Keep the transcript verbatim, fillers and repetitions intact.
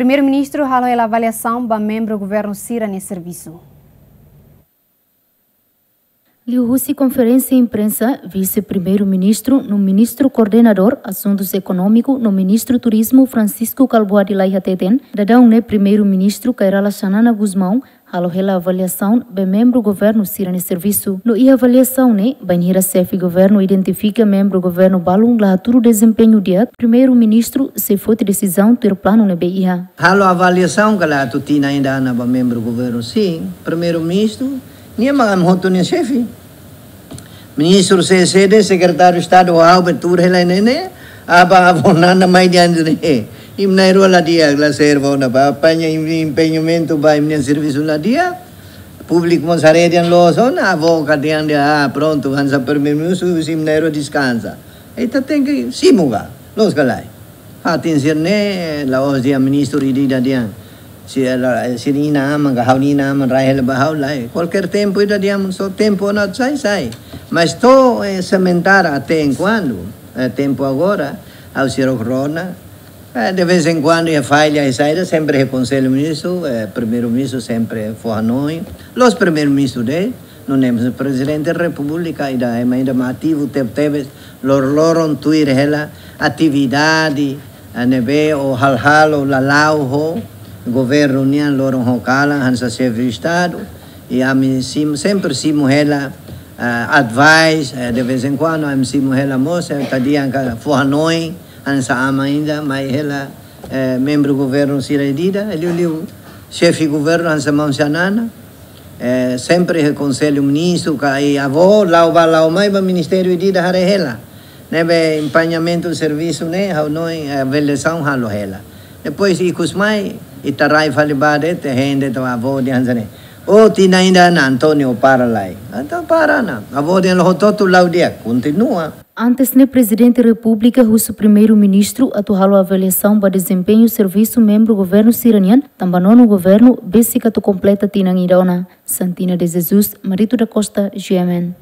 Primeiru-Ministru halo hela avaliasaun ba membru governu sira-nia servisu. Liuhusi konferénsia imprensa, Vise-Primeiru-Ministru no Ministru Koordenadór Asuntus Ekonómiku no Ministru Turizmu, Francisco Kalbuadi Lay, hateten, daudaun ne'e Primeiru-Ministru Kay Rala Xanana Gusmão halo hela avaliasaun ba membru governu sira-nia servisu. No iha avaliasaun ne'e, bainhira xefe governu identifika membru governu balun la hatudu dezempeñu di'ak, Primeiru-Ministru sei foti desizaun tuir planu ne'ebé iha. Halo avaliasaun ka lae atu tinan ida ona ba membru governu sira. Primeiru-Ministru, nia mak ami hotu nia xefe. Ministru sira seluk, Sekretáriu Estadu, ha'u be tuur hela ne'e ne'e, aba avó nana mai diante ne'e. Imi na'in-rua la di'ak, la serve ona ba, apaña imi-nia empeñamentu ba imi-nia servisu la di'ak. Públiku mós haree dehan loos ona, avó ka dehan dehan, ah, prontu, hanesan Primeiru-Ministru, imi na'in-rua deskansa. Ita tenke simu ka, loos ka lae. Fatin sira-ne'e, la'ós dehan ministru ida-idak dehan. Se la, se inan-aman ka ha'u-nia inan-aman rai hela ba ha'u lae. Kualkér tempu ida dehan só tempu ona sai, sai. Mas to'o, eh, sementara até enkuantu, eh, tempu agora, ha'u sira rona. Eh, de vez em quando, iha falla, iha saida, sempre iha Konsellu Ministru, eh, Primeiru-Ministru sempre fó hanoin. La'ós Primeiru-Ministru de'it, nune'e mós Prezidente Repúblika, ida ema ida mak ativu tebetebes, loroloron tuir hela atividade, eh, ne'ebé ou hal-halo lala'ok ho governu nian loron ho kalan hanesan xefe Estadu. I ami simu, sempre simu hela, eh, advice, eh, de vez em quando ami simu hela mós, eh, ita dehan ka fó hanoin, hanesan aman ida mai hela, eh, membru governu sira ida-idak, liuliu xefe governu hanesan maun Xanana, eh, sempre iha Konsellu Ministru ka iha avó, la'o bá la'o mai ba ministériu ida-idak haree hela. Ne'ebé empeñamentu servisu ne'e, ha'u hanoin, eh, avaliasaun halo hela. Depois ikus mai, ita rai fali ba de'it, ita hein de'it ba avó dehan hanesan ne'e. Oh, tinan ida ona, António para lai. Entaun para ona. Avó dehan hotu-hotu la'o di'ak, kontinua. Antes ne'e Prezidente Repúblika husu Primeiru-Ministru atu halo avaliasaun ba dezempeñu servisu membru governu sira-nian, tanba nonu governu besik atu kompleta tinan ida ona. Santina de Jesus, Marito da Costa, G M N.